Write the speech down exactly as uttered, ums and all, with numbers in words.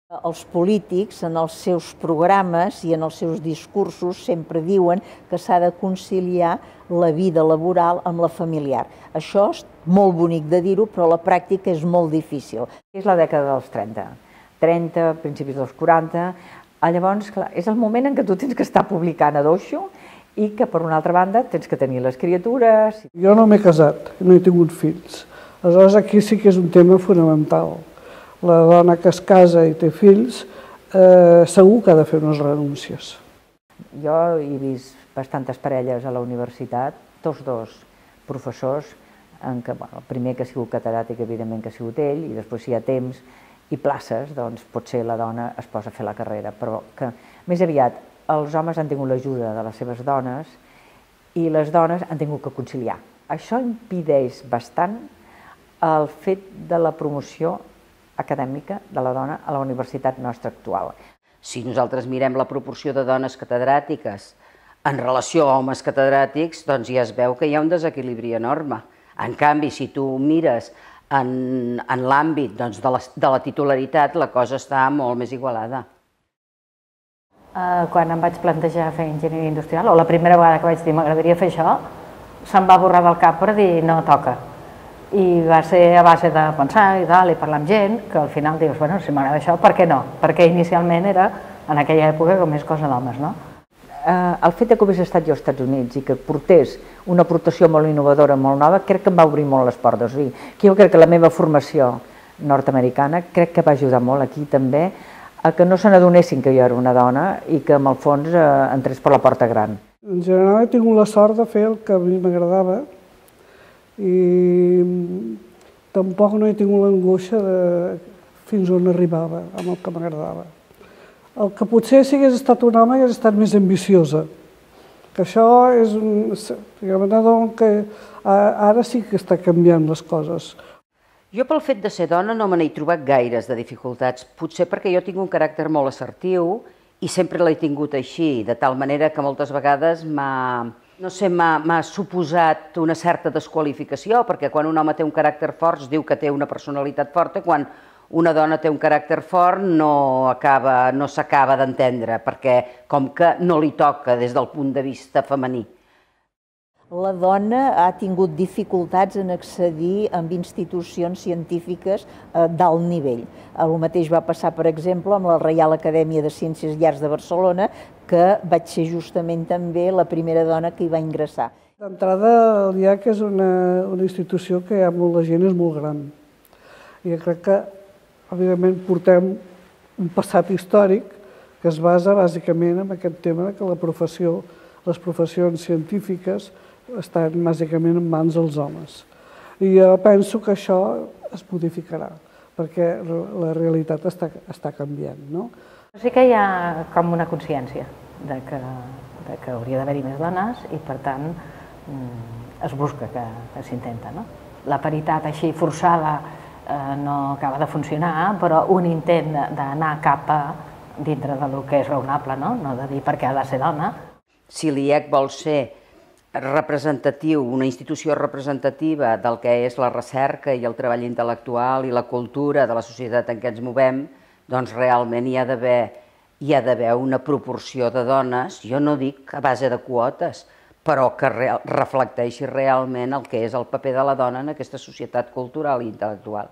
Els polítics, en els seus programes i en els seus discursos, sempre diuen que s'ha de conciliar la vida laboral amb la familiar. Això és molt bonic de dir-ho, però a la pràctica és molt difícil. És la dècada dels trenta, trenta, principis dels quaranta, llavors clar, és el moment en què tu tens que estar publicant a doixo i que, per una altra banda, tens que tenir les criatures. Jo no m'he casat, no he tingut fills. Aleshores, aquí sí que és un tema fonamental. La dona que es casa i té fills eh, segur que ha de fer unes renúncies. Jo he vist bastantes parelles a la universitat, tots dos professors, en què, bueno, el primer que ha sigut catedràtic, evidentment que ha sigut ell, i després si hi ha temps i places, doncs potser la dona es posa a fer la carrera, però que més aviat els homes han tingut l'ajuda de les seves dones i les dones han tingut que conciliar. Això impedeix bastant el fet de la promoció acadèmica de la dona a la universitat nostra actual. Si nosaltres mirem la proporció de dones catedràtiques en relació a homes catedràtics, doncs ja es veu que hi ha un desequilibri enorme. En canvi, si tu mires en, en l'àmbit doncs, de, la, de la titularitat, la cosa està molt més igualada. Uh, quan em vaig plantejar fer enginyeria industrial, o la primera vegada que vaig dir m'agradaria fer això, se'm va borrar del cap per dir no toca. I va ser a base de pensar i tal, i parlar amb gent, que al final dius, bueno, si m'agrada això, per què no? Perquè inicialment era, en aquella època, com més cosa d'homes, no? El fet que hagués estat jo als Estats Units i que portés una aportació molt innovadora, molt nova, crec que em va obrir molt les portes. O sigui, que jo crec que la meva formació nord-americana crec que va ajudar molt aquí també a que no se n'adonessin que jo era una dona i que, en el fons, eh, entrés per la porta gran. En general he tingut la sort de fer el que a mi m'agradava i tampoc no he tingut l'angoixa de fins on arribava amb el que m'agradava. El que potser si hagués estat un home hagués estat més ambiciosa, que això és un... que ara sí que està canviant les coses. Jo pel fet de ser dona no me n'he trobat gaires de dificultats, potser perquè jo tinc un caràcter molt assertiu i sempre l'he tingut així, de tal manera que moltes vegades m'ha... no sé, m'ha suposat una certa desqualificació, perquè quan un home té un caràcter fort es diu que té una personalitat forta, quan una dona té un caràcter fort no acaba, no s'acaba d'entendre, perquè com que no li toca des del punt de vista femení. La dona ha tingut dificultats en accedir a institucions científiques d'alt nivell. El mateix va passar, per exemple, amb la Reial Acadèmia de Ciències i Arts de Barcelona, que vaig ser justament també la primera dona que hi va ingressar. D'entrada, el I A C és una, una institució que hi ha molta gent, és molt gran. I jo crec que, evidentment, portem un passat històric que es basa bàsicament en aquest tema que la professió, les professions científiques estan bàsicament en mans dels homes. I jo penso que això es modificarà, perquè la realitat està, està canviant, no? Sí que hi ha com una consciència de que, de que hauria d'haver-hi més dones i, per tant, es busca que, que s'intenta, no? La paritat així forçada eh, no acaba de funcionar, però un intent d'anar cap a dintre del que és raonable, no? No de dir perquè ha de ser dona. Si l'I E C vol ser representatiu, una institució representativa del que és la recerca i el treball intel·lectual i la cultura de la societat en què ens movem, doncs realment hi ha d'haver hi ha d'haver una proporció de dones, jo no dic a base de quotes, però que reflecteixi realment el que és el paper de la dona en aquesta societat cultural i intel·lectual.